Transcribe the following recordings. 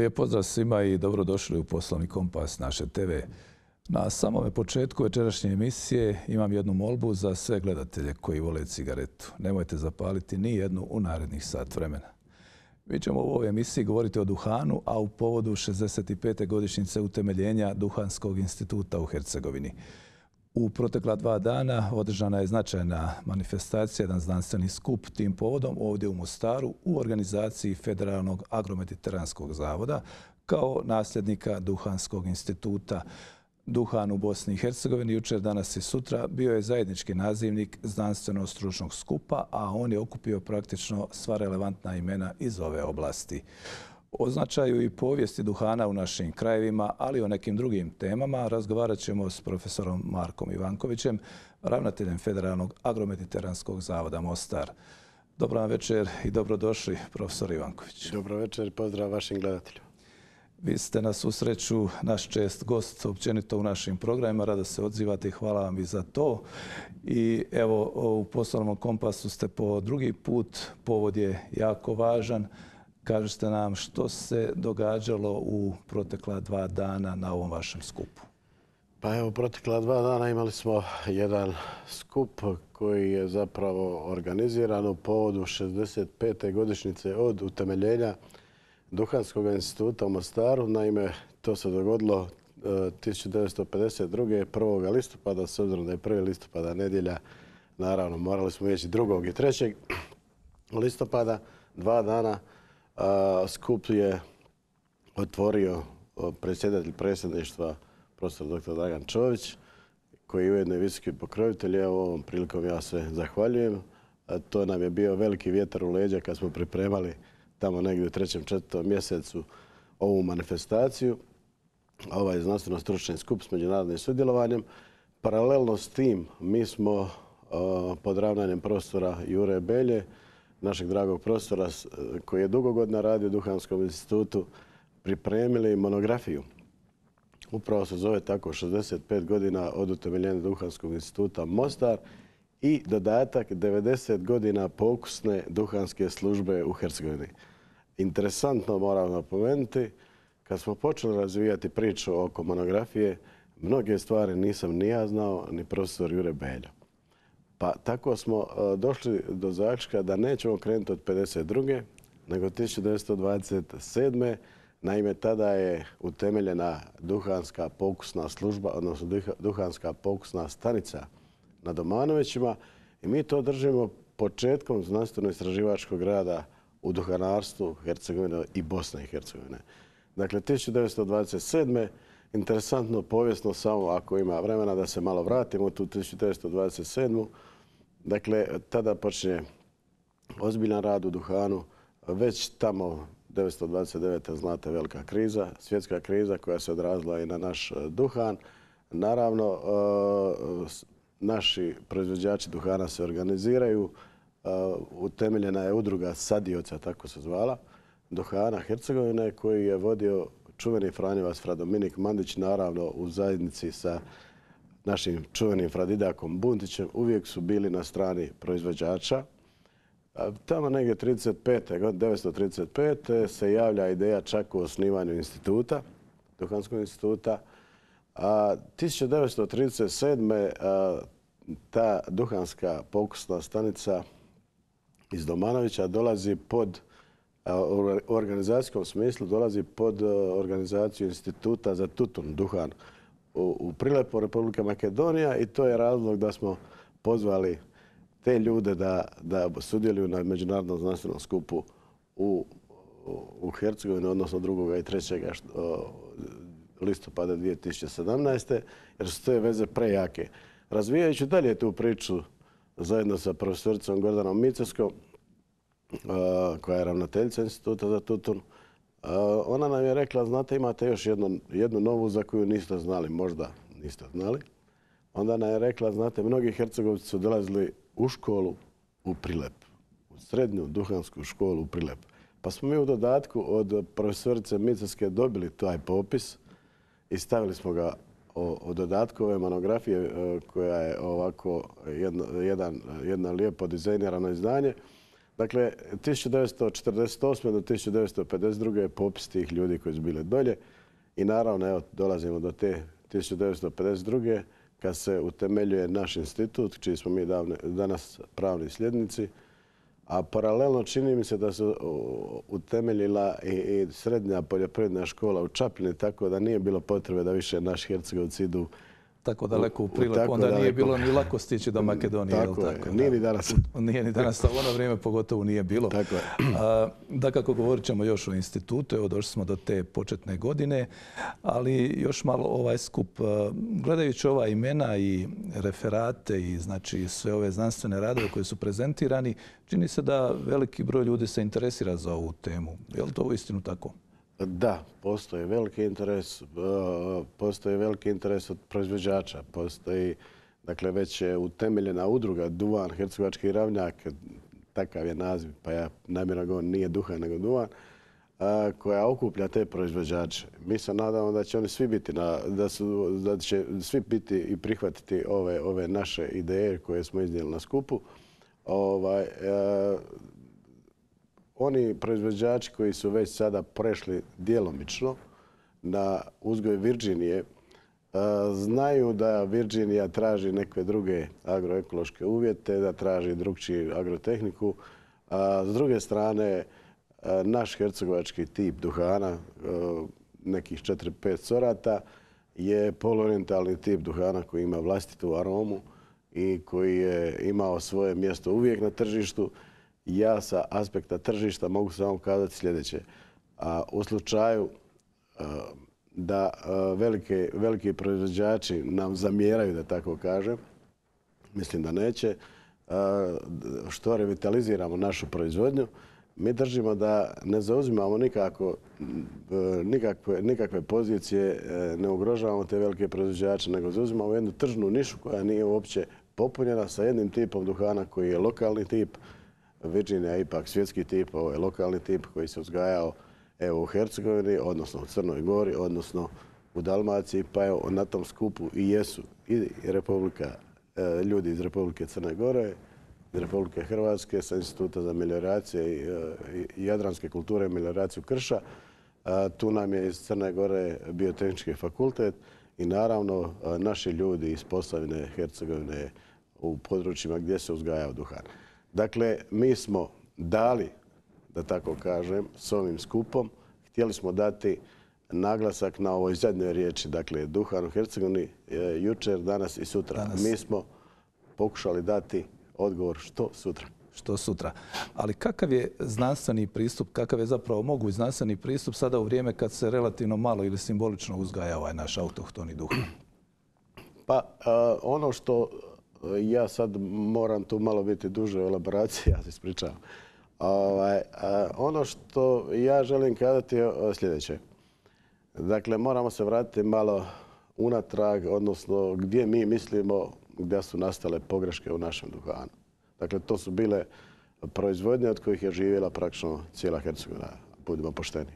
Lijep pozdrav svima i dobrodošli u Poslovni kompas naše TV. Na samome početku večerašnje emisije imam jednu molbu za sve gledatelje koji vole cigaretu. Nemojte zapaliti ni jednu u narednih sat vremena. Mi ćemo u ovoj emisiji govoriti o duhanu, a u povodu 65. godišnjice utemeljenja Duhanskog instituta u Hercegovini. U protekla 2 dana održana je značajna manifestacija, jedan znanstveni skup tim povodom ovdje u Mostaru u organizaciji Federalnog agromediteranskog zavoda kao nasljednika Duhanskog instituta. Duhan u Bosni i Hercegovini jučer, danas i sutra bio je zajednički nazivnik znanstveno-stručnog skupa, a on je okupio praktično sva relevantna imena iz ove oblasti. O značaju i povijesti duhana u našim krajevima, ali i o nekim drugim temama razgovarat ćemo s profesorom Markom Ivankovićem, ravnateljem Federalnog agromediteranskog zavoda Mostar. Dobar vam večer i dobrodošli, profesor Ivanković. Dobro večer i pozdrav vašim gledateljima. Vi ste na susreću naš čest gost općenito u našim programima. Rado se odzivate i hvala vam i za to. I evo, u Poslovnom kompasu ste po drugi put. Povod je jako važan. Kažete nam što se događalo u protekla 2 dana na ovom vašem skupu. Pa evo, protekla 2 dana imali smo jedan skup koji je zapravo organiziran u povodu 65. godišnjice od utemeljenja Duhanskog instituta u Mostaru. Naime, to se dogodilo 1952. 1. listopada, s obzirom da je 1. listopada nedjelja. Naravno, morali smo ići 2. i 3. listopada, 2 dana. Skup je otvorio predsjedatelj predsjedništva profesor dr. Dragan Čović, koji je ujedno i visoki pokrovitelj. Evo, ovom prilikom ja se zahvaljujem. To nam je bio veliki vjetar u leđa kad smo pripremali tamo negdje u 3. 4. mjesecu ovu manifestaciju, ovaj znanstveno-stručni skup s međunarodnim sudjelovanjem. Paralelno s tim mi smo pod ravnanjem profesora Jure Belje, našeg dragog profesora koji je dugo godina radio u Duhanskom institutu, pripremili monografiju. Upravo se zove tako 65 godina od utemeljenja Duhanskog instituta Mostar i dodatak 90 godina pokusne duhanske službe u Hercegovini. Interesantno moram napomenuti, kad smo počeli razvijati priču oko monografije, mnoge stvari nisam ni ja znao, ni profesor Jure Belja. Pa tako smo došli do zaključka da nećemo krenuti od 52. nego 1927. Naime, tada je utemeljena Duhanska pokusna služba, odnosno Duhanska pokusna stanica na Domanovićima i mi to držimo početkom znanstveno-istraživačkog rada u duhanarstvu Hercegovine i Bosne i Hercegovine. Dakle, 1927. interesantno povijesno, samo ako ima vremena da se malo vratimo u tu 1927. Dakle, tada počinje ozbiljan rad u duhanu. Već tamo 1929. znate velika kriza, svjetska kriza koja se odrazila i na naš duhan. Naravno, naši proizvođači duhana se organiziraju. Utemeljena je udruga sadioca, tako se zvala, duhana Hercegovine, koji je vodio čuveni Franjevac fra Dominik Mandić, naravno u zajednici sa našim čuvenim Fradidakom Buntićem. Uvijek su bili na strani proizvođača. Tamo negdje 1935. se javlja ideja čak u osnivanju instituta, Duhanskog instituta. 1937. Ta Duhanska pokusna stanica iz Domanovića dolazi pod, u organizacijskom smislu, dolazi pod organizaciju Instituta za tutun, duhan u Prilepu, Republika Makedonija, i to je razlog da smo pozvali te ljude da sudjeluju na međunarodnom znanstvenom skupu u Hercegovini, odnosno 2. i 3. listopada 2017. jer su te veze prejake. Razvijajući dalje tu priču zajedno sa profesoricom Gordanom Micevskom, koja je ravnateljica Instituta za tutun, ona nam je rekla, znate, imate još jednu novu za koju niste znali, možda niste znali. Onda nam je rekla, znate, mnogi Hercegovci su dolazili u školu u Prilep, u srednju duhansku školu u Prilep. Pa smo mi u dodatku od profesorice Micevske dobili taj popis i stavili smo ga o dodatku ove monografije koja je ovako jedno lijepo dizajnirano izdanje. Dakle, 1948. do 1952. je popis tih ljudi koji su bili dolje i naravno, evo, dolazimo do te 1952. kad se utemeljuje naš institut, čiji smo mi danas pravni sljednici, a paralelno čini mi se da se utemeljila i srednja poljoprivredna škola u Čapljini, tako da nije bilo potrebe da više naši Hercegovci idu tako daleko u prilog, onda nije bilo ni lako stići do Makedonije. Tako je, nije ni danas. Nije ni danas, a u ono vrijeme pogotovo nije bilo. Tako je. Dakako, govorit ćemo još o institutu, evo došli smo do te početne godine, ali još malo ovaj skup. Gledajući ova imena i referate i znači sve ove znanstvene radove koji su prezentirani, čini se da veliki broj ljudi se interesira za ovu temu. Je li to uistinu tako? Da, postoji veliki interes. Postoji veliki interes od proizvođača. Postoji, dakle, već je utemeljena udruga Duvan, Hercegovački ravnjak, takav je naziv, pa ja namjerno govorim nije Duhan nego Duvan, koja okuplja te proizvođače. Mi se nadamo da će oni svi biti, da će svi biti i prihvatiti ove naše ideje koje smo iznijeli na skupu. Oni proizvođači koji su već sada prešli djelomično na uzgoj Virginije znaju da Virginija traži neke druge agroekološke uvjete, da traži drukčiju agrotehniku. S druge strane, naš hercegovački tip duhana, nekih 4-5 sorata, je poluorientalni tip duhana koji ima vlastitu aromu i koji je imao svoje mjesto uvijek na tržištu. Ja sa aspekta tržišta mogu samo kazati sljedeće. U slučaju da veliki proizvođači nam zamjeraju, da tako kažem, mislim da neće, što revitaliziramo našu proizvodnju, mi držimo da ne zauzimamo nikakve pozicije, ne ugrožavamo te velike proizvođače, nego zauzimamo jednu tržnu nišu koja nije uopće popunjena sa jednim tipom duhana koji je lokalni tip. Virginija je ipak svjetski tip, ovo je lokalni tip koji se uzgajao u Hercegovini, odnosno u Crnoj Gori, odnosno u Dalmaciji, pa evo na tom skupu i jesu i ljudi iz Republike Crne Gore, iz Republike Hrvatske, sa Instituta za melioracije i jadranske kulture i melioraciju Krša. Tu nam je iz Crne Gore Biotehnički fakultet i naravno naši ljudi iz Posavine, Hercegovine u područjima gdje se uzgajao duhan. Dakle, mi smo dali, da tako kažem, s ovim skupom, htjeli smo dati naglasak na ovoj zadnjoj riječi, dakle, duhan u Hercegovini, jučer, danas i sutra. Mi smo pokušali dati odgovor što sutra. Što sutra. Ali kakav je znanstveni pristup, kakav je zapravo moguć znanstveni pristup sada u vrijeme kad se relativno malo ili simbolično uzgaja ovaj naš autohtoni duhan? Pa, ono što ja sad moram tu malo biti duže u elaboraciji, ja se ispričavam. Ono što ja želim kazati je sljedeće. Dakle, moramo se vratiti malo unatrag, odnosno gdje mi mislimo gdje su nastale pogreške u našem duhanu. Dakle, to su bile proizvodnje od kojih je živjela praktično cijela Hercegovina, budimo pošteni.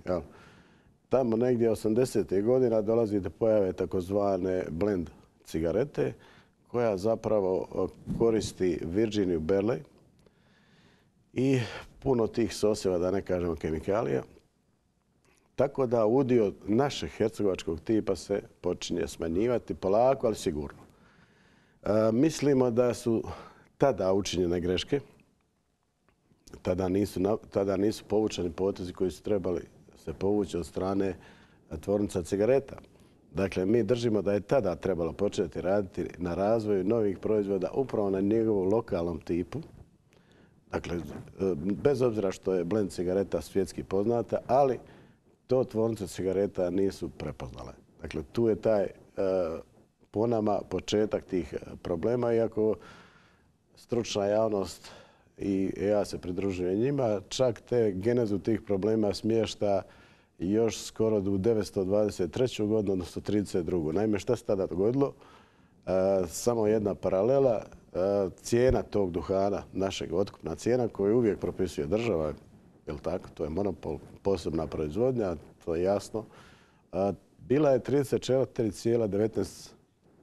Tamo negdje 80. godina dolazi do pojave takozvane blend cigarete, koja zapravo koristi Virginiju Berley i puno tih sosjeva, da ne kažemo kemikalija. Tako da udio našeg hercegovačkog tipa se počinje smanjivati polako, ali sigurno. Mislimo da su tada učinjene greške. Tada nisu povučeni potezi koji su trebali se povući od strane tvornica cigareta. Dakle, mi držimo da je tada trebalo početi raditi na razvoju novih proizvoda upravo na njegovom lokalnom tipu. Dakle, bez obzira što je blend cigareta svjetski poznata, ali to tvornice cigareta nisu prepoznale. Dakle, tu je taj, po nama, početak tih problema, iako stručna javnost i ja se pridružujem njima, čak te genezu tih problema smješta još skoro do 1923. godinu, odnosno 1932. Naime, šta se tada dogodilo? Samo jedna paralela. Cijena tog duhana, našeg otkupna cijena, koju uvijek propisuje država, jel tako? To je monopol, posebna proizvodnja, to je jasno. Bila je 34,19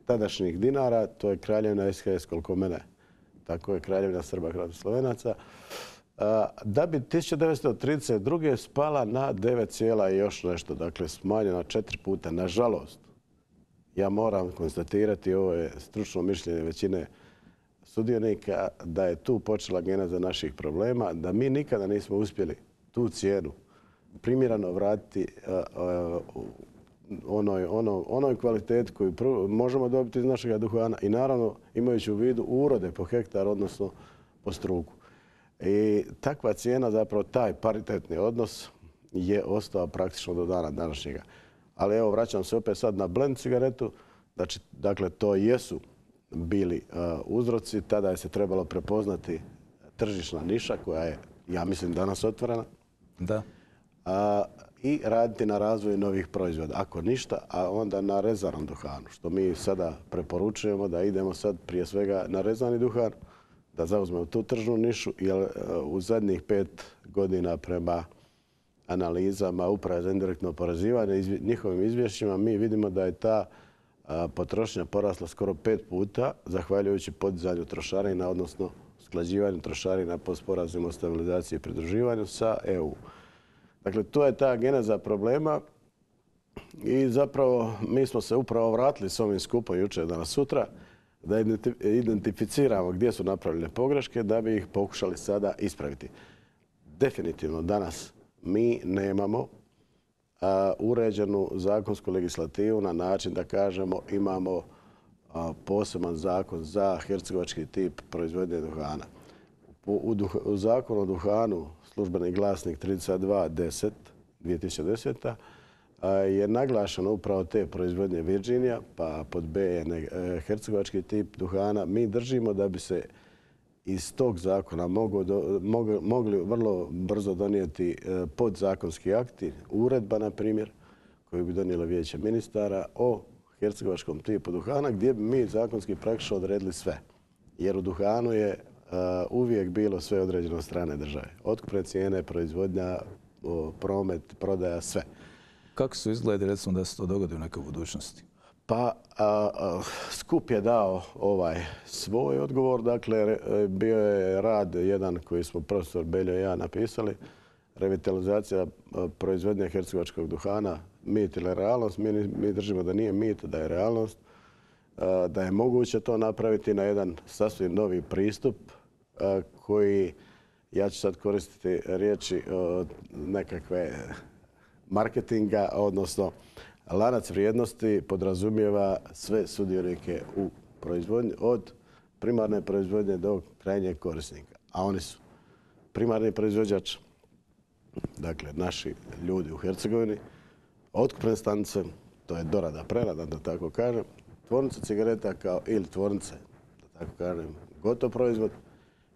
tadašnjih dinara, to je kraljevina SHS koliko mene. Tako je kraljevina Srba, Hrvata, Slovenaca. da bi 1932. spala na 9, i još nešto, dakle smanjena 4 puta. Nažalost, ja moram konstatirati, ovo je stručno mišljenje većine sudionika, da je tu počela geneza naših problema, da mi nikada nismo uspjeli tu cijenu primjereno vratiti onoj kvaliteti koju možemo dobiti iz našeg duhana i naravno imajući u vidu urode po hektar, odnosno po struku. I takva cijena, zapravo taj paritetni odnos je ostao praktično do dana današnjega. Ali evo, vraćam se opet sad na blend cigaretu. Dakle, to jesu bili uzroci. Tada je se trebalo prepoznati tržišna niša koja je, ja mislim, danas otvorena. Da. I raditi na razvoju novih proizvoda. Ako ništa, a onda na rezanom duhanu, što mi sada preporučujemo da idemo sad prije svega na rezani duhan, da zauzmemo tu tržnu nišu, jer u zadnjih 5 godina prema analizama Uprave za indirektno oporezivanje i njihovim izvješćima mi vidimo da je ta potrošnja porasla skoro 5 puta zahvaljujući podizanju trošarina, odnosno usklađivanju trošarina po sporazumu o stabilizaciji i pridruživanju sa EU. Dakle, to je ta geneza problema i zapravo mi smo se upravo vratili s ovim skupom jučer, danas, sutra, da identificiramo gdje su napravljene pogreške da bi ih pokušali sada ispraviti. Definitivno danas mi nemamo uređenu zakonsku legislativu na način da kažemo imamo poseban zakon za hercegovački tip proizvodnje duhana. U zakonu o duhanu, službeni glasnik 3210 2010. Je naglašeno upravo te proizvodnje Virginija, pa pod B je hercegovački tip duhana. Mi držimo da bi se iz tog zakona mogli vrlo brzo donijeti podzakonski akti, uredba, na primjer, koju bi donijelo Vijeće ministara o hercegovačkom tipu duhana, gdje bi mi zakonski praktično odredili sve. Jer u duhanu je uvijek bilo sve određeno od strane države. Otkupne cijene, proizvodnja, promet, prodaja, sve. Kako su izgledi, recimo, da se to dogodi u nekoj budućnosti? Pa, skup je dao svoj odgovor. Dakle, bio je rad jedan koji smo profesor Beljo i ja napisali. Revitalizacija proizvodnje hercegovačkog duhana, mit ili realnost. Mi držimo da nije mit, da je realnost. Da je moguće to napraviti na jedan sasvim novi pristup koji, ja ću sad koristiti riječi nekakve marketinga, odnosno lanac vrijednosti podrazumijeva sve sudionike u proizvodnji, od primarne proizvodnje do krajnjeg korisnika. A oni su primarni proizvođač, dakle naši ljudi u Hercegovini, otkupne stanice, to je dorada, prerada, da tako kažem, tvornice cigareta ili tvornice, da tako kažem, gotov proizvod.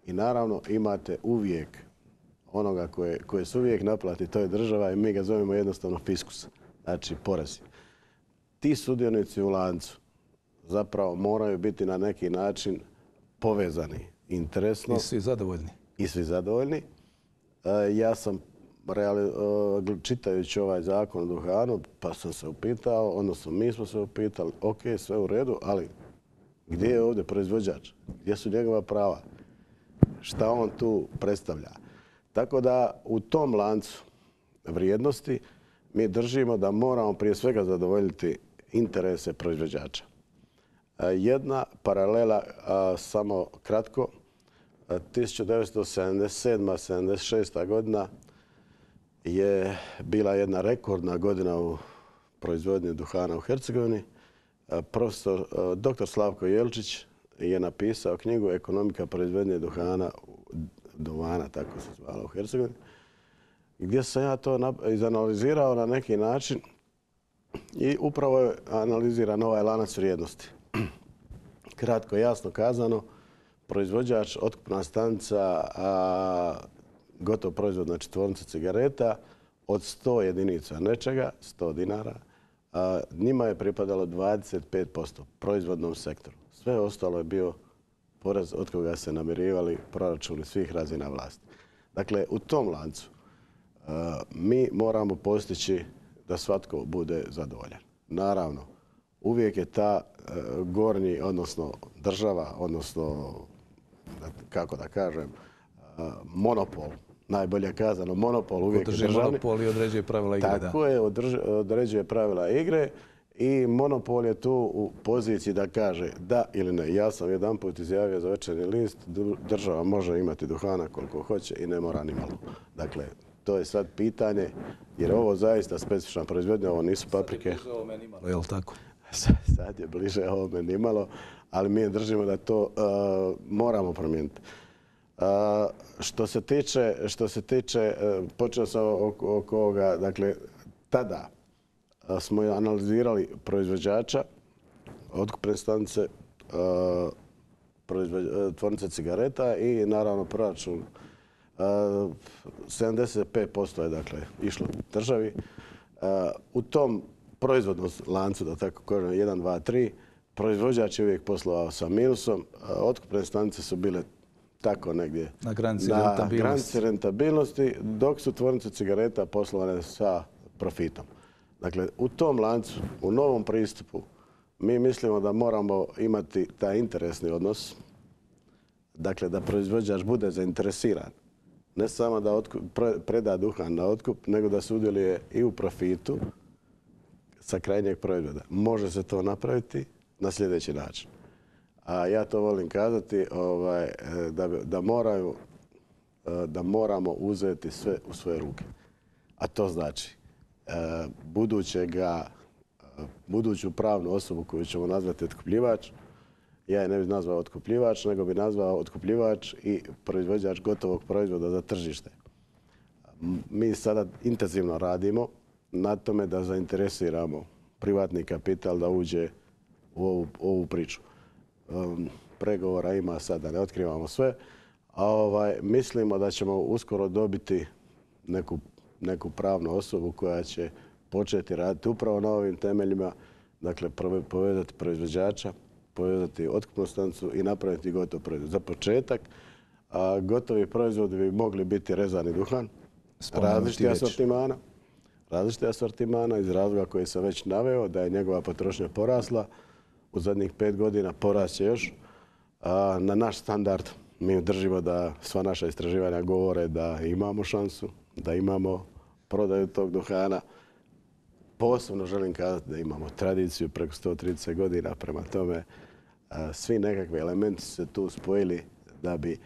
I naravno imate uvijek onoga koje se uvijek naplati, to je država i mi ga zovemo jednostavno fiskus, znači porezi. Ti sudionici u lancu zapravo moraju biti na neki način povezani interesno. I svi zadovoljni. I svi zadovoljni. Ja sam čitajući ovaj zakon o duhanu, pa sam se upitao, odnosno mi smo se upitali, ok, sve u redu, ali gdje je ovdje proizvođač? Gdje su njegova prava? Šta on tu predstavlja? Tako da u tom lancu vrijednosti mi držimo da moramo prije svega zadovoljiti interese proizvođača. Jedna paralela, samo kratko, 1977-76. godina je bila jedna rekordna godina u proizvodnji duhana u Hercegovini. Profesor dr. Slavko Jelčić je napisao knjigu Ekonomika proizvodnje duvana, tako se zvala u Hercegovini, gdje sam ja to izanalizirao na neki način i upravo je analiziran ovaj lanac vrijednosti. Kratko, jasno kazano, proizvođač, otkupna stanica, gotov proizvod, znači tvornica cigareta, od 100 jedinica nečega, 100 dinara, njima je pripadalo 25% proizvodnom sektoru. Sve ostalo je bio porez od koga se namirivali proračuni svih razina vlasti. Dakle, u tom lancu mi moramo postići da svatko bude zadovoljan. Naravno, uvijek je ta gornji, odnosno država, odnosno, kako da kažem, monopol, najbolje kazano monopol uvijek Podrži državni. monopol i određuje pravila igre. Tako je, određuje pravila igre i monopol je tu u poziciji da kaže da ili ne. Ja sam jedanput izjavio za Večernji list, država može imati duhana koliko hoće i ne mora ni malo. Dakle, to je sad pitanje, jer ovo zaista specifična proizvodnja, ovo nisu paprike. Sad je bliže ovome nimalo, je li tako? Sad je bliže ovome nimalo, ali mi držimo da to moramo promijeniti. Što se tiče, počeo sam oko ovoga, dakle, tada smo analizirali proizvođača, otkupne stanice, tvornice cigareta i naravno proračun. 75% je dakle išlo državi. U tom proizvodnom lancu, da tako kažem, 1, 2, 3, proizvođač je uvijek poslovao sa minusom. Otkupne stanice su bile tako negdje na granici rentabilnosti, dok su tvornice cigareta poslovane sa profitom. Dakle, u tom lancu, u novom pristupu, mi mislimo da moramo imati taj interesni odnos, dakle da proizvođač bude zainteresiran. Ne samo da preda duhan na otkup, nego da sudjeluje i u profitu sa krajnjeg proizvoda. Može se to napraviti na sljedeći način. A ja to volim kazati da moramo uzeti sve u svoje ruke. A to znači buduću pravnu osobu koju ćemo nazvati otkupljivač, ja je ne bih nazvao otkupljivač, nego bi nazvao otkupljivač i proizvođač gotovog proizvoda za tržište. Mi sada intenzivno radimo na tome da zainteresiramo privatni kapital da uđe u ovu priču. Pregovora ima sad, da ne otkrivamo sve, a mislimo da ćemo uskoro dobiti neku pravnu osobu koja će početi raditi upravo na ovim temeljima, dakle povezati proizvođača, povezati otkupnu stanicu i napraviti gotov proizvod. Za početak, gotovi proizvodi bi mogli biti rezani duhan, različitih asortimana iz razloga koje sam već naveo, da je njegova potrošnja porasla. U zadnjih 5 godina porast će još. Na naš standard mi držimo da sva naša istraživanja govore da imamo šansu, da imamo prodaju tog duhana. Posebno želim kazati da imamo tradiciju preko 130 godina, prema tome svi nekakvi elementi su se tu spojili da bi,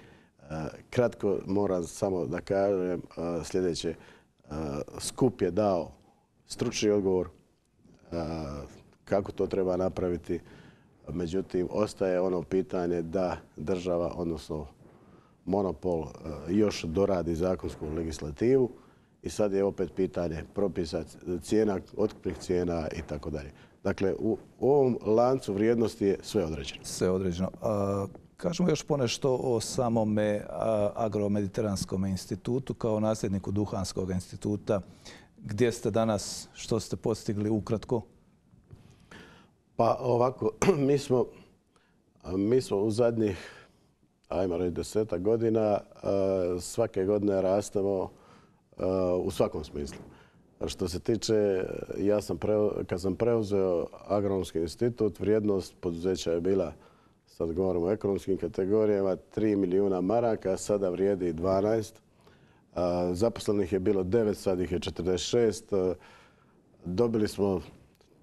kratko moram samo da kažem sljedeće, skup je dao stručni odgovor kako to treba napraviti, međutim ostaje ono pitanje da država, odnosno monopol, još doradi zakonsku legislativu i sad je opet pitanje propisa cijena, otkupnih cijena i tako dalje. Dakle, u ovom lancu vrijednosti je sve određeno. Sve određeno. Kažemo još ponešto o samome Agromediteranskom institutu kao nasljedniku Duhanskog instituta. Gdje ste danas, što ste postigli ukratko? Pa ovako, mi smo u zadnjih, ajmo reći, 10 godina svake godine rastemo u svakom smislu. Što se tiče, kad sam preuzeo Agronomski institut, vrijednost poduzeća je bila, sad govorimo o ekonomskim kategorijama, 3 milijuna maraka, sada vrijedi 12. Zaposlenih je bilo 9, sad ih je 46. Dobili smo,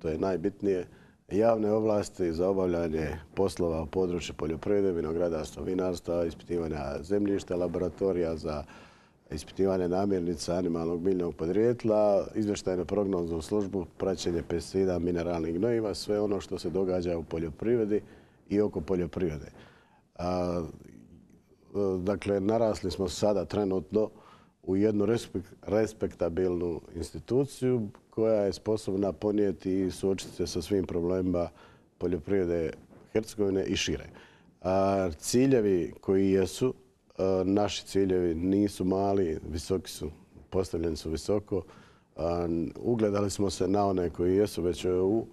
to je najbitnije, javne ovlasti za obavljanje poslova u području poljoprivrede, vinogradarstva, vinarstva, ispitivanja zemljišta, laboratorija za ispitivanje namirnica animalnog biljnog podrijetla, izvještajnu prognozu u službu, praćenje pesticida, mineralnih gnojiva, sve ono što se događa u poljoprivredi i oko poljoprivrede. Dakle, narasli smo sada trenutno u jednu respektabilnu instituciju koja je sposobna ponijeti i suočiti se sa svim problemima poljoprivrede Hercegovine i šire. Ciljevi koji jesu, naši ciljevi nisu mali, visoki su, postavljeni su visoko. Ugledali smo se na one koji jesu već u EU,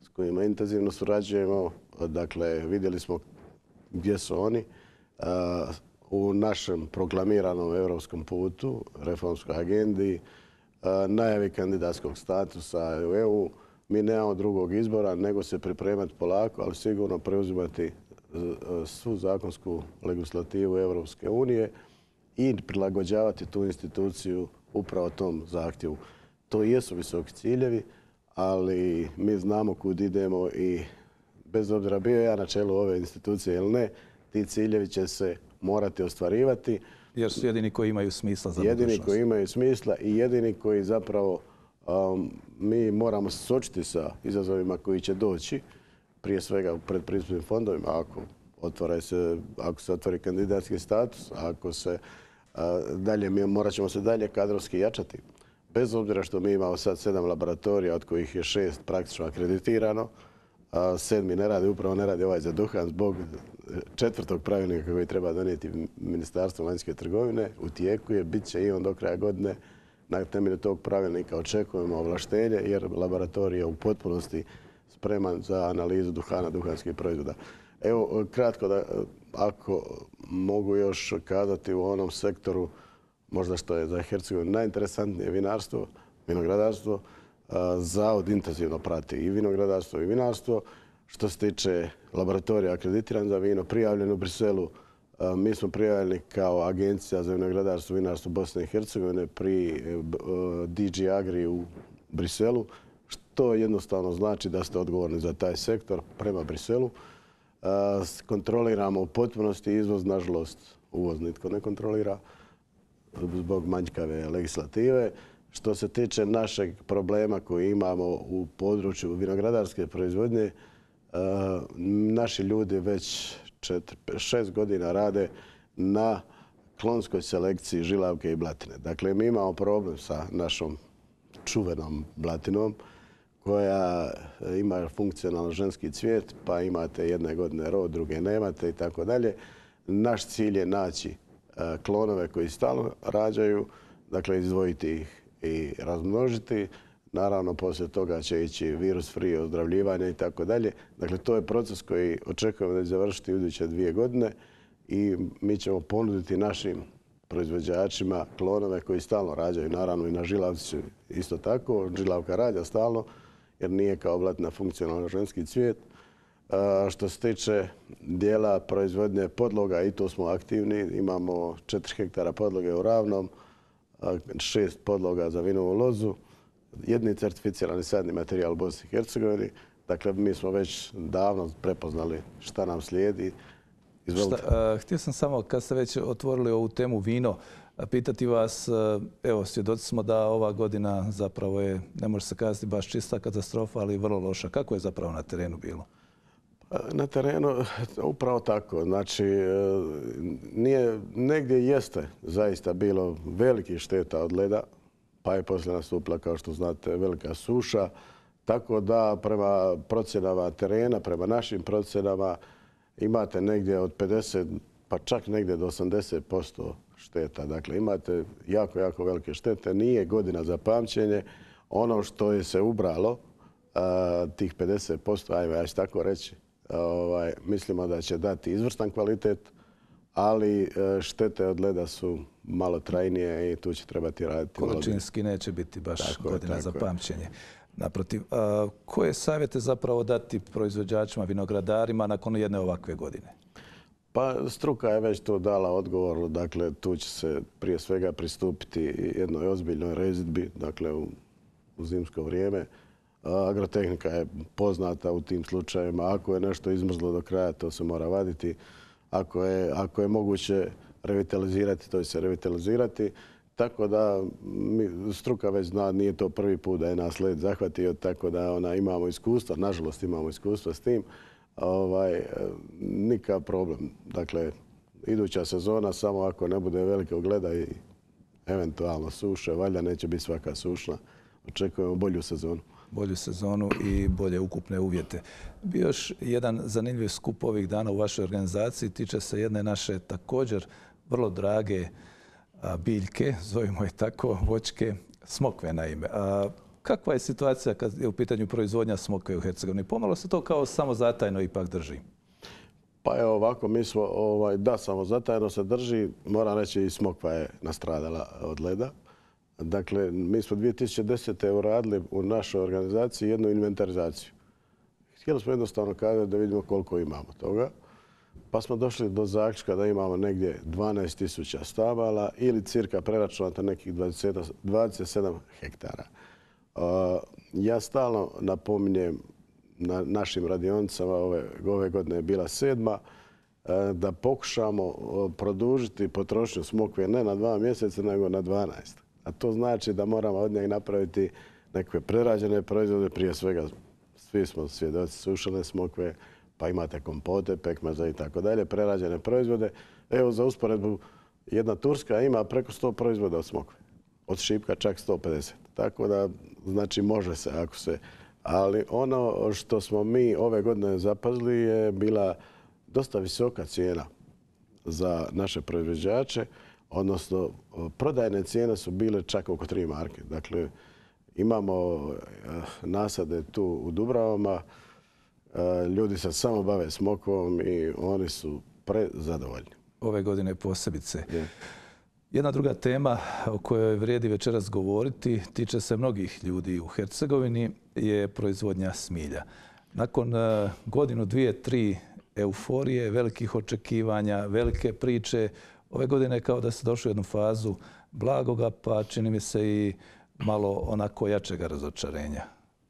s kojima intenzivno surađujemo. Dakle, vidjeli smo gdje su oni. U našem proklamiranom europskom putu, reformskoj agendi, najavi kandidatskog statusa u EU, mi nemamo drugog izbora nego se pripremati polako, ali sigurno preuzimati svu zakonsku legislativu Europske unije i prilagođavati tu instituciju upravo tom zahtjevu. To jesu visoki ciljevi, ali mi znamo kud idemo i bez obzira bio ja na čelu ove institucije ili ne, ti ciljevi će se morati ostvarivati. Jer su jedini koji imaju smisla za budućnost. Jedini koji imaju smisla i jedini koji zapravo mi moramo se suočiti sa izazovima koji će doći, prije svega u predpristupnim fondovima, ako se otvori kandidatski status, ako se morat ćemo se dalje kadrovski jačati. Bez obzira što mi imamo sad 7 laboratorija, od kojih je 6 praktično akreditirano, 7. ne radi ovaj za duhan zbog 4. pravilnika koji treba donijeti Ministarstvo vanjske trgovine. U tijeku je, bit će i on do kraja godine. Na temelju tog pravilnika očekujemo ovlaštenje jer laboratorij je u potpunosti spreman za analizu duhana, duhanskih proizvoda. Evo, kratko da, ako mogu još kazati u onom sektoru, možda što je za Hercegovinu najinteresantnije vinarstvo, vinogradarstvo, Zavod intenzivno prati i vinogradarstvo i vinarstvo. Što se tiče laboratorija akreditiran za vino, prijavljen u Briselu, mi smo prijavljeni kao Agencija za vinogradarstvo i vinarstvo Bosne i Hercegovine pri DG Agri u Briselu, što jednostavno znači da ste odgovorni za taj sektor prema Briselu. Kontroliramo u potpunosti izvoz, nažalost uvoz nitko ne kontrolira zbog manjkave legislative. Što se tiče našeg problema koji imamo u području vinogradarske proizvodnje, naši ljudi već 6 godina rade na klonskoj selekciji žilavke i blatine. Dakle, mi imamo problem sa našom čuvenom blatinom koja ima funkcionalno ženski cvijet, pa imate jedne godine rod, druge nemate i tako dalje. Naš cilj je naći klonove koji stalno rađaju, dakle izdvojiti ih i razmnožiti. Naravno, poslije toga će ići virus free ozdravljivanje i tako dalje. Dakle, to je proces koji očekujemo da će završiti u iduće 2 godine i mi ćemo ponuditi našim proizvođačima klonove koji stalno rađaju. Naravno, i na žilavci isto tako. Žilavka rađa stalno jer nije kao blatina funkcionalno ženski cvijet. Što se tiče dijela proizvodnje podloga, i tu smo aktivni. Imamo 4 hektara podloge u Ravnom, 6 podloga za vinovu lozu, jedni certificirani sadni materijal u Bosni i Hercegovini. Dakle, mi smo već davno prepoznali šta nam slijedi. Htio sam samo, kad ste već otvorili ovu temu vino, pitati vas, evo, svjedoci smo da ova godina zapravo je, ne može se kazati baš čista katastrofa, ali vrlo loša. Kako je zapravo na terenu bilo? Na terenu upravo tako. Znači, negdje jeste zaista bilo velikih šteta od leda, pa je poslije nastupila, kao što znate, velika suša. Tako da prema procjenama terena, prema našim procjenama, imate negdje od 50, pa čak negdje do 80% šteta. Dakle, imate jako, jako velike štete. Nije godina za pamćenje. Ono što je se ubralo, tih 50%, ajme, ja ću tako reći, mislimo da će dati izvrstan kvalitet, ali štete od leda su malo trajnije i tu će trebati raditi. Količinski neće biti baš godina za pamćenje. Naprotiv, koje savjete zapravo dati proizvođačima, vinogradarima nakon jedne ovakve godine? Pa struka je već to dala odgovor. Dakle, tu će se prije svega pristupiti jednoj ozbiljnoj rezidbi, dakle u zimsko vrijeme. Agrotehnika je poznata u tim slučajevima. Ako je nešto izmrzlo do kraja, to se mora vaditi. Ako je moguće revitalizirati, to će se revitalizirati. Tako da struka već zna, nije to prvi put da je nas led zahvatio, tako da imamo iskustva, nažalost imamo iskustva s tim. Nikakav problem. Dakle, iduća sezona, samo ako ne bude velikog leda i eventualno suše, valjda neće biti svaka sušna. Očekujemo bolju sezonu. Bolju sezonu i bolje ukupne uvjete. Bio još jedan zanimljiv skup ovih dana u vašoj organizaciji, tiče se jedne naše također vrlo drage biljke, zovimo je tako, voćke, smokve naime. Kakva je situacija kad je u pitanju proizvodnja smokve u Hercegovini? Pomalo se to kao samozatajno ipak drži. Pa evo ovako, mi smo, da, samozatajno se drži. Moram reći i smokva je nastradala od leda. Dakle, mi smo 2010. uradili u našoj organizaciji jednu inventarizaciju. Htjeli smo jednostavno kazati da vidimo koliko imamo toga. Pa smo došli do zaključka da imamo negdje 12.000 stabala ili cirka preračunato nekih 27 hektara. Ja stalno napominjem na našim radionicama, ove godine je bila 7. da pokušamo produžiti potrošnju smokve ne na 2 mjeseca, nego na 12. A to znači da moramo od njega napraviti neke prerađene proizvode, prije svega svi smo svjedoci sušene smokve, pa imate kompote, pekmeza i tako dalje, prerađene proizvode. Evo za usporedbu, jedna Turska ima preko 100 proizvoda od smokve. Od šipka čak 150. Tako da, znači može se ako se... Ali ono što smo mi ove godine zapazili je bila dosta visoka cijena za naše proizvođače, odnosno prodajne cijene su bile čak oko 3 marke. Dakle, imamo nasade tu u Dubravama, ljudi se samo bave smokvom i oni su prezadovoljni. Ove godine posebice. Jedna druga tema o kojoj vrijedi večeras govoriti tiče se mnogih ljudi u Hercegovini je proizvodnja smilja. Nakon godinu, 2, 3 euforije, velikih očekivanja, velike priče, ove godine kao da se došlo u jednu fazu blagoga, pa čini mi se i malo onako jačega razočarenja.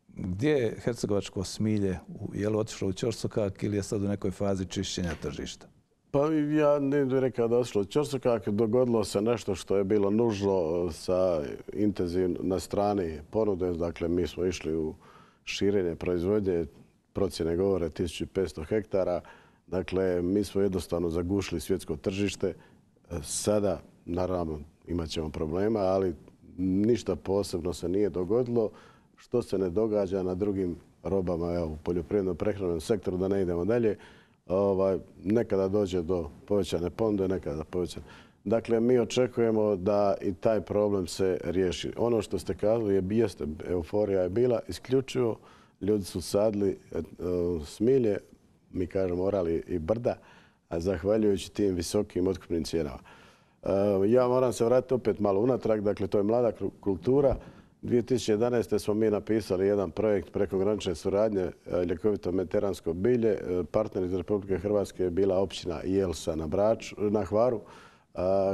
Gdje je hercegovačko smilje? Je li otišlo u ćorsokak ili je sad u nekoj fazi čišćenja tržišta? Pa ja ne bih rekao da je otišlo u ćorsokak. Dogodilo se nešto što je bilo nužno na strani ponude. Dakle, mi smo išli u širenje proizvodnje. Procjene govore 1500 hektara. Dakle, mi smo jednostavno zagušili svjetsko tržište. Sada, naravno, imat ćemo problema, ali ništa posebno se nije dogodilo. Što se ne događa na drugim robama, u poljoprivredno-prehrambenom sektoru, da ne idemo dalje, nekada dođe do povećane ponude, nekada povećane. Dakle, mi očekujemo da i taj problem se riješi. Ono što ste kazali jeste, euforija je bila isključivo, ljudi su sadili smilje, mi kažemo orali i brda, a zahvaljujući tim visokim otkupnim cijenama. Ja moram se vratiti opet malo unatrag, dakle to je mlada kultura. 2011. smo mi napisali jedan projekt prekogranične suradnje ljekovito mediteransko bilje. Partner iz Republike Hrvatske je bila općina Jelsa na Hvaru,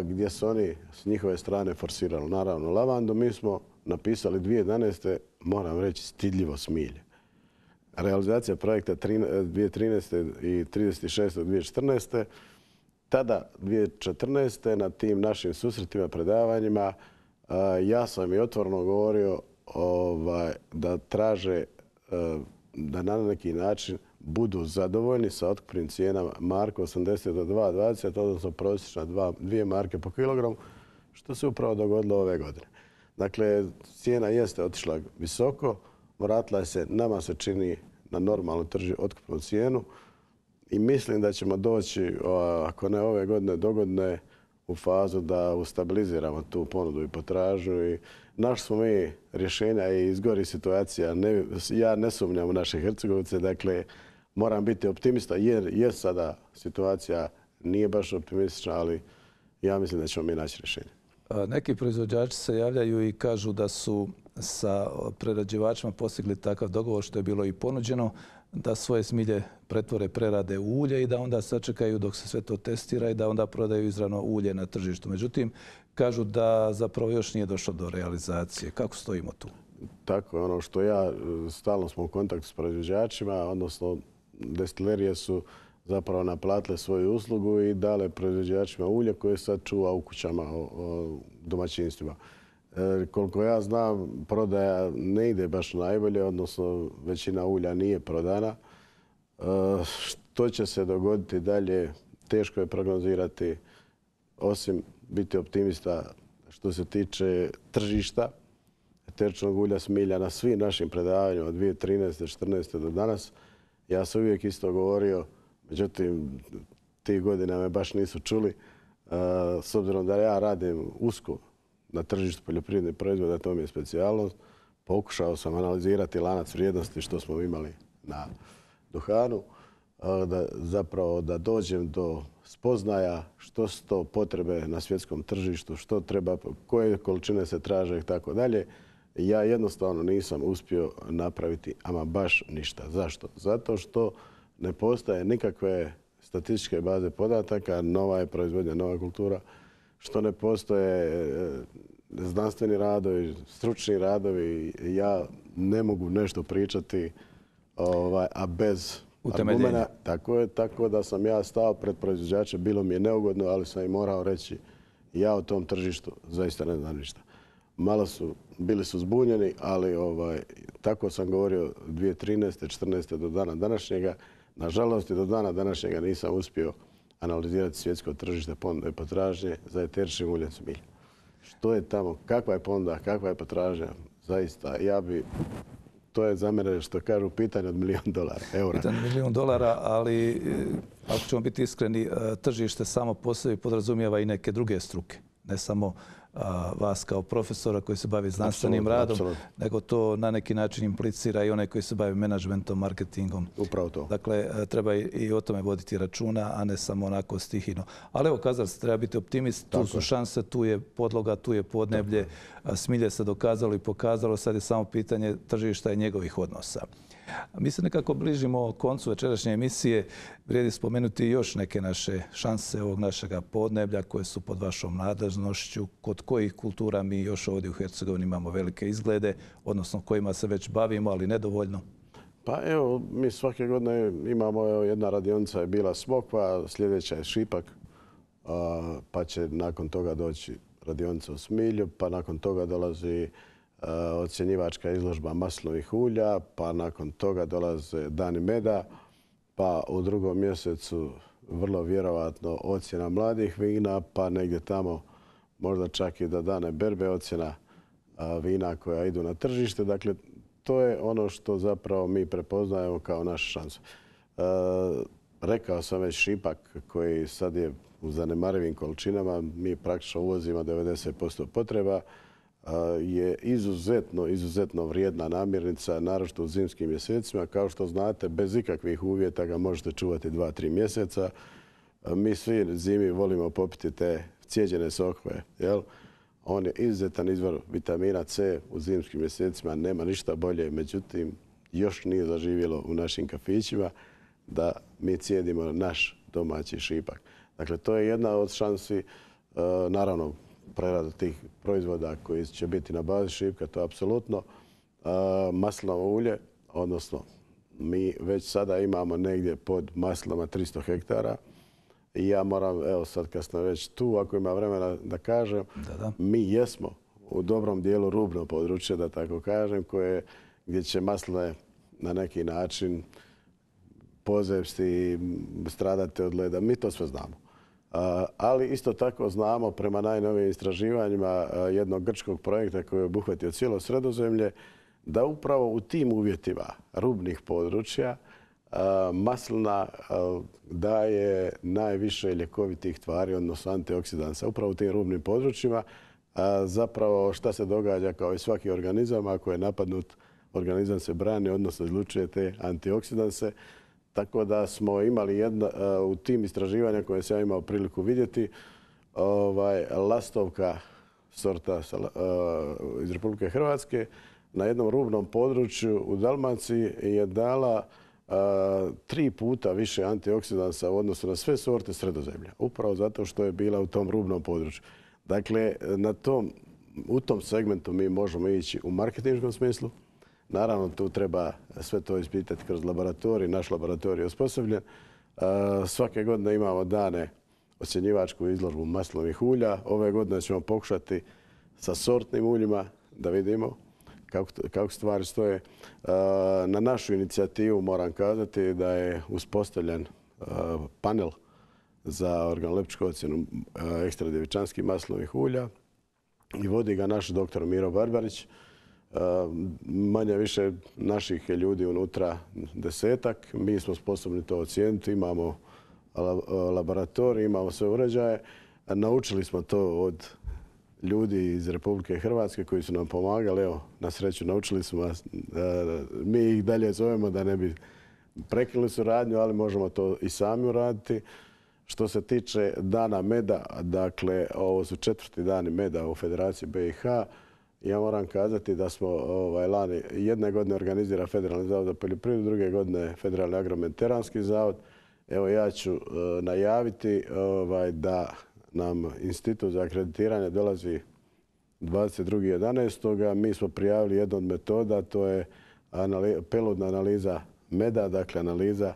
gdje su oni s njihove strane forsirali naravno lavandu. Mi smo napisali 2011. moram reći stidljivo smilje. Realizacija projekta 2013. i 36.2014. Tada, 2014. na tim našim susretima, predavanjima, ja sam i otvoreno govorio da traže da na neki način budu zadovoljni sa otkupnim cijenama marka 80 do 2,20, odnosno prosječna 2 marke po kilogramu, što se upravo dogodilo ove godine. Dakle, cijena jeste otišla visoko, vratila se, nama se čini, na normalnu otkupnu cijenu i mislim da ćemo doći, ako ne ove godine, dogodne, u fazu da ustabiliziramo tu ponudu i potražnju. I našli smo mi rješenja i izgori situacija. Ja ne sumnjam u naše Hercegovice, dakle moram biti optimista jer je sada situacija nije baš optimistična, ali ja mislim da ćemo mi naći rješenje. Neki proizvođači se javljaju i kažu da su sa prerađivačima postigli takav dogovor što je bilo i ponuđeno, da svoje smilje pretvore, prerade u ulje i da onda sačekaju dok se sve to testira i da onda prodaju izravno ulje na tržištu. Međutim, kažu da zapravo još nije došlo do realizacije. Kako stojimo tu? Tako je, ono što stalno smo u kontaktu s proizvođačima, odnosno destilerije su zapravo naplatile svoju uslugu i dale proizvođačima ulje koje sad čuva u kućama, domaćinstvima. Koliko ja znam, prodaja ne ide baš najbolje, odnosno većina ulja nije prodana. Što će se dogoditi dalje, teško je prognozirati, osim biti optimista što se tiče tržišta eteričnog ulja smilja na svim našim predavanjima od 2013. 2014. do danas. Ja sam uvijek isto govorio, međutim, tih godina me baš nisu čuli. S obzirom da ja radim usko na tržištu poljoprivrednih proizvoda, to mi je specijalnost. Pokušao sam analizirati lanac vrijednosti što smo imali na duhanu, zapravo da dođem do spoznaja što su to potrebe na svjetskom tržištu, što treba, koje količine se traže i tako dalje. Ja jednostavno nisam uspio napraviti ama baš ništa. Zašto? Zato što ne postoje nikakve statističke baze podataka, nova je proizvodnja, nova kultura, što ne postoje znanstveni radovi, stručni radovi. Ja ne mogu nešto pričati, a bez argumenta. Tako da sam ja stao pred proizvođače, bilo mi je neugodno, ali sam im morao reći ja o tom tržištu zaista ne znam ništa. Bili su zbunjeni, ali tako sam govorio 2013. 2014. do dana današnjega. Nažalost, i do dana današnjega nisam uspio analizirati svjetsko tržište ponude i potražnje za eteričnim uljem smilja. Što je tamo, kakva je ponuda, kakva je potražnja, zaista, to je za mene, što kažu, pitanje od $1.000.000, eura. Pitanje od $1.000.000, ali ako ćemo biti iskreni, tržište samo po sebi podrazumijeva i neke druge struke. Ne samo vas kao profesora koji se bavi znanstvenim radom, nego to na neki način implicira i one koji se bavi menadžmentom, marketingom. Upravo to. Dakle, treba i o tome voditi računa, a ne samo onako stihijno. Ali evo, kazali ste, treba biti optimist, tu su šanse, tu je podloga, tu je podneblje. Smilje se dokazalo i pokazalo, sad je samo pitanje tržišta i njegovih odnosa. Mi se nekako bližimo koncu večerašnje emisije. Vrijedi spomenuti još neke naše šanse ovog našega podneblja koje su pod vašom nadležnošću, kod kojih kultura mi još ovdje u Hercegovini imamo velike izglede, odnosno kojima se već bavimo, ali nedovoljno. Pa evo, mi svake godine imamo, jedna radionica je bila Smokva, sljedeća je Šipak, pa će nakon toga doći radionica u Smilju, pa nakon toga dolazi ocjenjivačka izložba maslinovih ulja, pa nakon toga dolaze Dani meda, pa u 2. mjesecu vrlo vjerovatno ocjena mladih vina, pa negdje tamo možda čak i do Dane berbe ocjena vina koja idu na tržište. Dakle, to je ono što zapravo mi prepoznajemo kao našu šansu. Rekao sam već Šipak koji sad je u zanemarivim količinama, mi praktično uvozimo 90% potreba, je izuzetno vrijedna namirnica, naročito u zimskim mjesecima. Kao što znate, bez ikakvih uvjeta ga možete čuvati 2-3 mjeseca. Mi svi zimi volimo popiti te cijeđene sokove. On je izuzetan izvor vitamina C u zimskim mjesecima, nema ništa bolje. Međutim, još nije zaživjelo u našim kafićima da mi cijedimo naš domaći Šipak. Dakle, to je jedna od šansi, naravno, prerada tih proizvoda koji će biti na bazi šipka, to je apsolutno. Maslinovo ulje, odnosno mi već sada imamo negdje pod maslinama 300 hektara. I ja moram, evo sad kad sam već tu, ako ima vremena da kažem, mi jesmo u dobrom dijelu rubno područje, da tako kažem, gdje će masline na neki način pozepsti i stradati od leda. Mi to sve znamo. Ali isto tako znamo prema najnovijim istraživanjima jednog grčkog projekta koji je obuhvatio cijelo Sredozemlje, da upravo u tim uvjetima rubnih područja maslina daje najviše ljekovitih tvari, odnosno antioksidansa. Upravo u tim rubnim područjima zapravo šta se događa kao i svaki organizam, ako je napadnut, organizam se brani, odnosno izlučuje te antioksidanse. Tako da smo imali u tim istraživanjima koje sam ja imao priliku vidjeti, lastovka sorta iz Republike Hrvatske na jednom rubnom području u Dalmaciji je dala 3 puta više antioksidansa u odnosu na sve sorte Sredozemlja. Upravo zato što je bila u tom rubnom području. Dakle, u tom segmentu mi možemo ići u marketinškom smislu. Naravno, tu treba sve to ispitati kroz laboratorij. Naš laboratorij je osposobljen. Svake godine imamo dane ocjenjivačku izložbu maslinovih ulja. Ove godine ćemo pokušati sa sortnim uljima da vidimo kako stvari stoje. Na našu inicijativu moram kazati da je uspostavljen panel za organoleptičku ocjenu ekstra djevičanskih maslinovih ulja i vodi ga naš doktor Miro Barbarić. Manje više naših je ljudi unutra 10-ak. Mi smo sposobni to ocijeniti. Imamo laboratorij, imamo sve uređaje. Naučili smo to od ljudi iz Republike Hrvatske koji su nam pomagali. Evo, na sreću naučili smo vas. Mi ih dalje zovemo da ne bi prekinuli suradnju, ali možemo to i sami uraditi. Što se tiče dana meda, dakle, ovo su 4. dani meda u Federaciji BiH. Ja moram kazati da smo lani jedne godine organizira Federalni zavod za poljoprivredu, druge godine Federalni agromediteranski zavod. Evo ja ću najaviti da nam Institut za akreditiranje dolazi 22.11. Mi smo prijavili jednu od metoda, to je peludna analiza meda, dakle analiza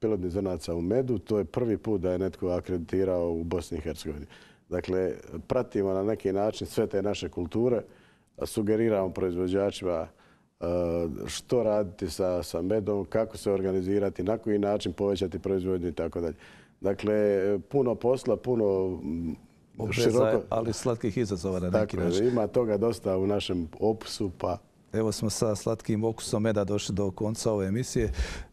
peludnih zrnaca u medu. To je prvi put da je netko akreditirao u Bosni i Hercegovini. Dakle, pratimo na neki način sve te naše kulture, sugeriramo proizvođačima što raditi sa medom, kako se organizirati, na koji način povećati proizvodnju i tako dalje. Dakle, puno posla, puno široko... ali slatkih izazova na neki način. Ima toga dosta u našem opusu, pa... Evo smo sa slatkim okusom meda došli do konca ove emisije.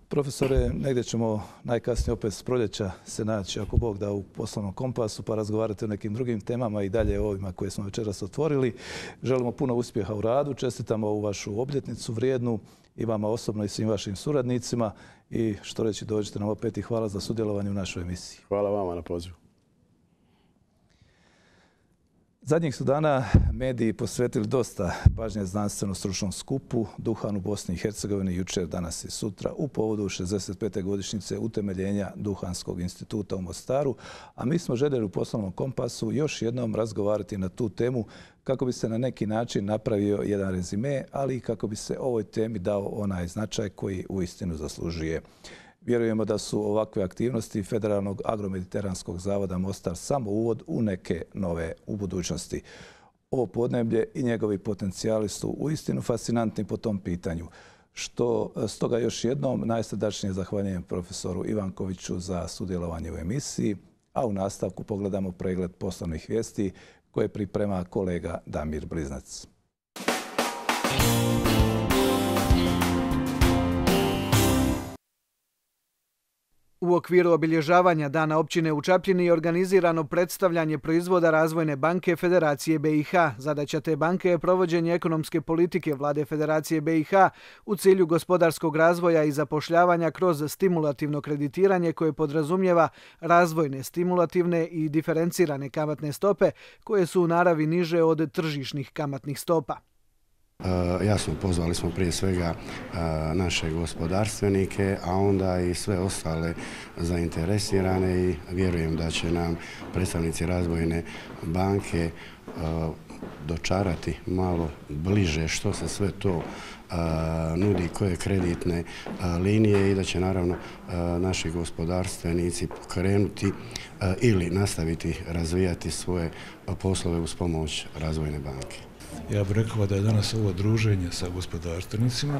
Profesore, negdje ćemo najkasnije opet s proljeća se naći, ako Bog da, u Poslovnom kompasu, pa razgovarati o nekim drugim temama i dalje o ovima koje smo večeras otvorili. Želimo puno uspjeha u radu, čestitamo ovu vašu obljetnicu vrijednu i vama osobno i svim vašim suradnicima. I što reći, dođite nam opet i hvala za sudjelovanje u našoj emisiji. Hvala vama na pozivu. Zadnjih su dana mediji posvetili dosta pažnje znanstveno-stručnom skupu Duhan u Bosni i Hercegovini jučer, danas i sutra u povodu 65. godišnjice utemeljenja Duhanskog instituta u Mostaru, a mi smo željeli u Poslovnom kompasu još jednom razgovarati na tu temu kako bi se na neki način napravio jedan rezime, ali i kako bi se ovoj temi dao onaj značaj koji uistinu zaslužuje. Vjerujemo da su ovakve aktivnosti Federalnog agromediteranskog zavoda Mostar samo uvod u neke nove u budućnosti. Ovo podneblje i njegovi potencijali su uistinu fascinantni po tom pitanju. Stoga još jednom najsrdačnije zahvaljujem profesoru Ivankoviću za sudjelovanje u emisiji, a u nastavku pogledamo pregled poslovnih vijesti koje priprema kolega Damir Bliznac. U okviru obilježavanja Dana općine u Čapljini je organizirano predstavljanje proizvoda Razvojne banke Federacije BiH. Zadaća te banke je provođenje ekonomske politike Vlade Federacije BiH u cilju gospodarskog razvoja i zapošljavanja kroz stimulativno kreditiranje koje podrazumijeva razvojne, stimulativne i diferencirane kamatne stope koje su u naravi niže od tržišnih kamatnih stopa. Jasno, pozvali smo prije svega naše gospodarstvenike, a onda i sve ostale zainteresirane i vjerujem da će nam predstavnici Razvojne banke dočarati malo bliže što se sve to nudi, koje kreditne linije i da će naravno naši gospodarstvenici pokrenuti ili nastaviti razvijati svoje poslove uz pomoć Razvojne banke. Ja bih rekao da je danas ovo druženje sa gospodarstvenicima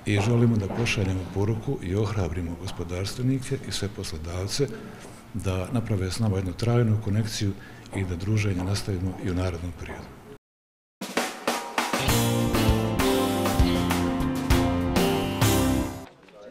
i želimo da pošaljemo poruku i ohrabrimo gospodarstvenike i sve poslodavce da naprave s nama jednu trajnu konekciju i da druženje nastavimo i u narednom periodu.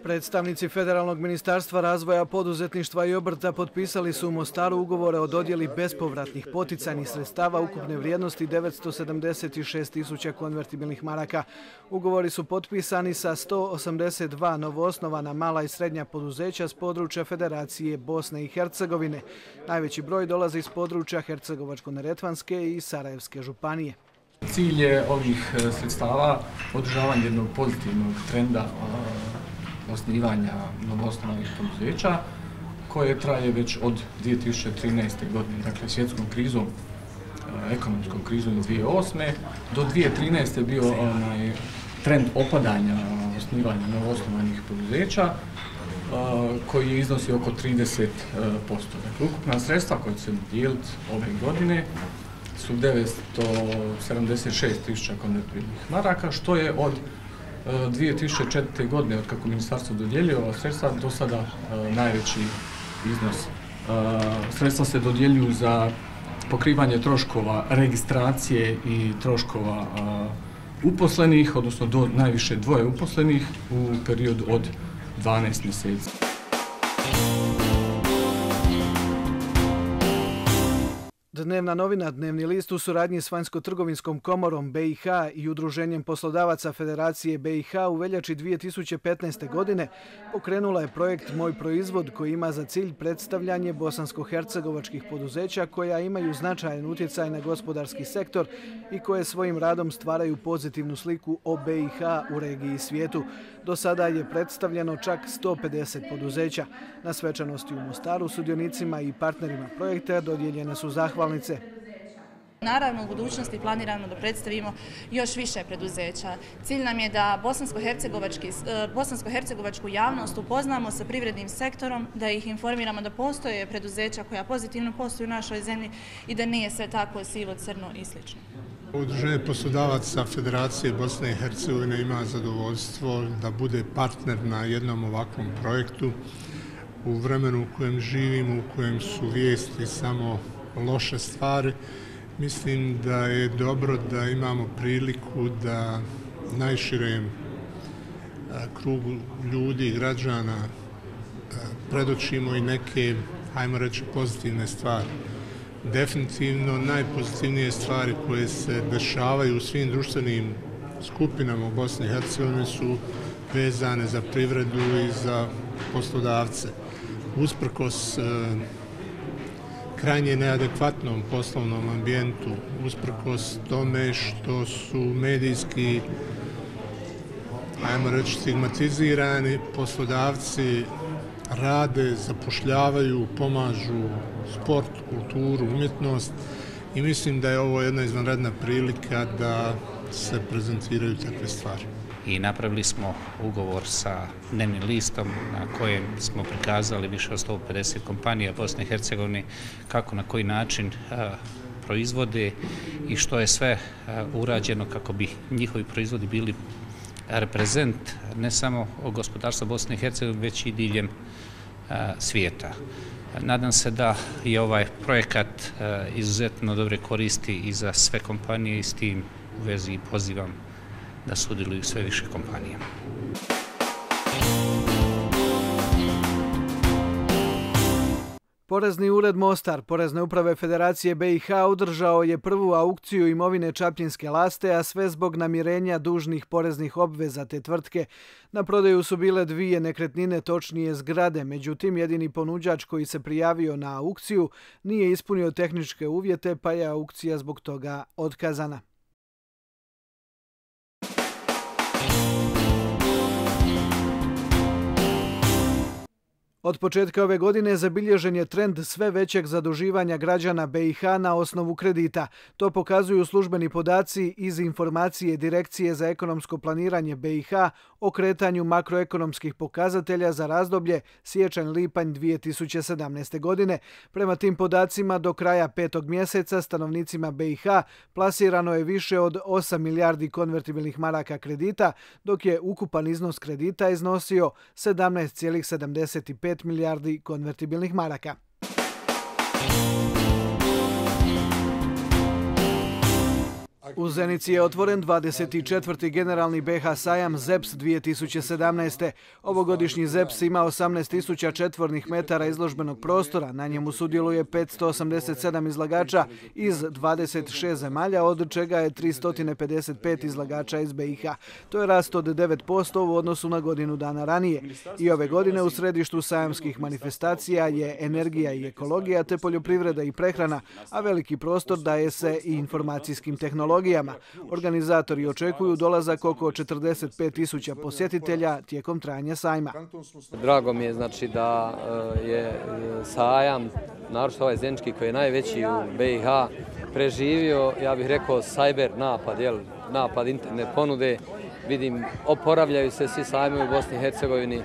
Predstavnici Federalnog ministarstva razvoja, poduzetništva i obrta potpisali su u Mostaru ugovore o dodjeli bespovratnih poticajnih sredstava ukupne vrijednosti 976.000 konvertibilnih maraka. Ugovori su potpisani sa 182 novoosnovana mala i srednja poduzeća s područja Federacije Bosne i Hercegovine. Najveći broj dolazi iz područja Hercegovačko-neretvanske i Sarajevske županije. Cilj je ovih sredstava održavanje jednog pozitivnog trenda osnivanja novoosnovanih poduzeća koje traje već od 2013. godine, dakle svjetskom krizom, ekonomskom krizom 2008. Do 2013. je bio trend opadanja osnivanja novoosnovanih poduzeća koji je iznosi oko 30%. Dakle, ukupna sredstva koja će se dijeliti ove godine su 976.000 konvertibilnih maraka, što je od 2004. godine, od kako ministarstvo dodjeljuje ova sredstva, do sada najveći iznos. Sredstva se dodjeljuju za pokrivanje troškova registracije i troškova uposlenih, odnosno do najviše 2 uposlenih u periodu od 12 mjeseci. Dnevna novina Dnevni list u suradnji s Vanjsko-trgovinskom komorom BiH i Udruženjem poslodavaca Federacije BiH u veljači 2015. godine pokrenula je projekt Moj proizvod koji ima za cilj predstavljanje bosansko-hercegovačkih poduzeća koja imaju značajan utjecaj na gospodarski sektor i koje svojim radom stvaraju pozitivnu sliku o BiH u regiji i svijetu. Do sada je predstavljeno čak 150 poduzeća. Na svečanosti u Mostaru sudionicima i partnerima projekta dodijeljene su zahvalnice. Naravno, u budućnosti planiramo da predstavimo još više preduzeća. Cilj nam je da bosansko-hercegovačku javnost upoznamo sa privrednim sektorom, da ih informiramo da postoje preduzeća koja pozitivno posluju u našoj zemlji i da nije sve tako sivo, crno i sl. Udruženje poslodavaca Federacije Bosne i Hercegovine ima zadovoljstvo da bude partner na jednom ovakvom projektu u vremenu u kojem živimo, u kojem su vijesti samo loše stvari. Mislim da je dobro da imamo priliku da najširem krugu ljudi, građana predočimo i neke, hajmo reći, pozitivne stvari. Definitivno najpozitivnije stvari koje se dešavaju u svim društvenim skupinama u Bosni i Hercegovini su vezane za privredu i za poslodavce. Usprkos krajnje neadekvatnom poslovnom ambijentu, usprkos tome što su medijski, ajmo reći, stigmatizirani, poslodavci rade, zapošljavaju, pomažu sport, kulturu, umjetnost i mislim da je ovo jedna izvanredna prilika da se prezentiraju takve stvari. I napravili smo ugovor sa Dnevnim listom na kojem smo prikazali više od 150 kompanija Bosne i Hercegovine kako na koji način proizvode i što je sve urađeno kako bi njihovi proizvodi bili reprezent ne samo gospodarstva Bosne i Hercegovine, već i diljem svijeta. Nadam se da je ovaj projekat izuzetno dobre koristi i za sve kompanije i s tim u vezi pozivam da sudjeluju sve više kompanija. Porezni ured Mostar Porezne uprave Federacije BiH održao je prvu aukciju imovine Čapljinske Laste, a sve zbog namirenja dužnih poreznih obveza te tvrtke. Na prodaju su bile dvije nekretnine, točnije zgrade, međutim jedini ponuđač koji se prijavio na aukciju nije ispunio tehničke uvjete, pa je aukcija zbog toga otkazana. Od početka ove godine zabilježen je trend sve većeg zaduživanja građana BiH na osnovu kredita. To pokazuju službeni podaci iz informacije Direkcije za ekonomsko planiranje BiH o kretanju makroekonomskih pokazatelja za razdoblje siječanj-lipanj 2017. godine. Prema tim podacima do kraja 5. mjeseca stanovnicima BiH plasirano je više od 8 milijardi konvertibilnih maraka kredita, dok je ukupan iznos kredita iznosio 17,75 milijardi konvertibilnih maraka. U Zenici je otvoren 24. generalni BiH sajam ZEPS 2017. Ovogodišnji ZEPS ima 18.000 četvornih metara izložbenog prostora. Na njemu sudjeluje 587 izlagača iz 26 zemalja, od čega je 355 izlagača iz BiH. To je rast od 9% u odnosu na godinu dana ranije. I ove godine u središtu sajamskih manifestacija je energija i ekologija te poljoprivreda i prehrana, a veliki prostor daje se i informacijskim tehnologijama. Organizatori očekuju dolazak oko 45.000 posjetitelja tijekom trajanja sajma. Drago mi je da je sajam, naročito ovaj zenički koji je najveći u BiH, preživio, ja bih rekao, cyber napad internet ponude. Vidim, oporavljaju se svi sajmovi u Bosni i Hercegovini,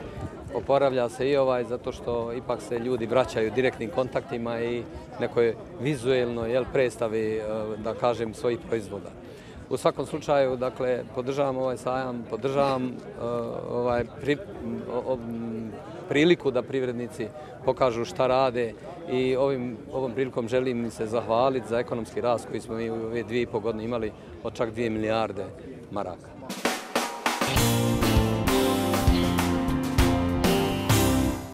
oporavlja se i ovaj zato što ipak se ljudi vraćaju direktnim kontaktima i nekoj vizuelnoj predstavi, da kažem, svojih proizvoda. U svakom slučaju, dakle, podržavam ovaj sajam, podržavam priliku da privrednici pokažu šta rade i ovom prilikom želim im se zahvaliti za ekonomski rast koji smo mi u ove 2,5 godine imali od čak 2 milijarde maraka.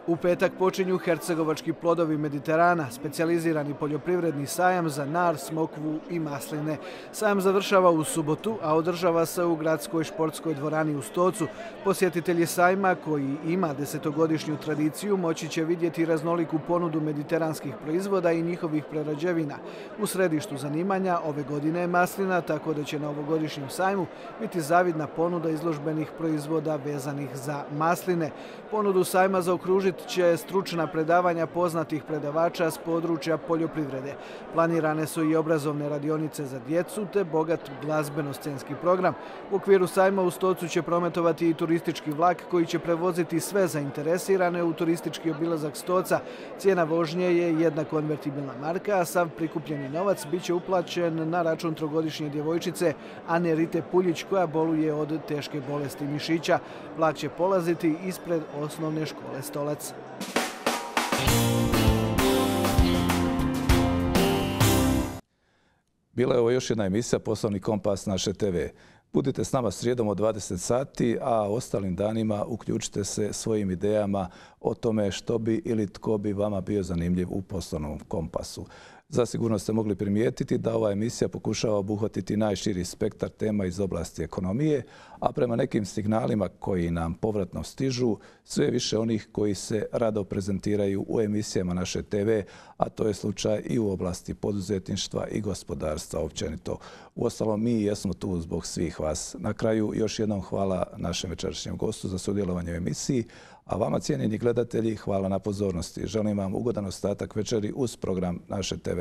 U U petak počinju hercegovački plodovi Mediterana, specijalizirani poljoprivredni sajam za nar, smokvu i masline. Sajam završava u subotu, a održava se u gradskoj športskoj dvorani u Stocu. Posjetitelji sajma, koji ima 10-godišnju tradiciju, moći će vidjeti raznoliku ponudu mediteranskih proizvoda i njihovih prerađevina. U središtu zanimanja ove godine je maslina, tako da će na ovogodišnjem sajmu biti zavidna ponuda izložbenih proizvoda vezanih za masline. Ponudu sajma zaokružit će stručna predavanja poznatih predavača s područja poljoprivrede. Planirane su i obrazovne radionice za djecu te bogat glazbeno-scenski program. U okviru sajma u Stocu će prometovati i turistički vlak koji će prevoziti sve zainteresirane u turistički obilazak Stoca. Cijena vožnje je jedna konvertibilna marka, a sav prikupljeni novac bit će uplaćen na račun trogodišnje djevojčice Ane Rite Puljić, koja boluje od teške bolesti mišića. Vlak će polaziti ispred osnovne škole Stolac. Bila je ovo još jedna emisija Poslovni kompas naše TV. Budite s nama srijedom od 20 sati, a ostalim danima uključite se svojim idejama o tome što bi ili tko bi vama bio zanimljiv u Poslovnom kompasu. Zasigurno ste mogli primijetiti da ova emisija pokušava obuhvatiti najširi spektar tema iz oblasti ekonomije, a prema nekim signalima koji nam povratno stižu, sve više onih koji se rado prezentiraju u emisijama naše TV, a to je slučaj i u oblasti poduzetništva i gospodarstva općenito. Uostalom, mi jesmo tu zbog svih vas. Na kraju još jednom hvala našem večerašnjem gostu za sudjelovanje u emisiji, a vama, cijenjeni gledatelji, hvala na pozornosti. Želim vam ugodan ostatak večeri uz program naše TV.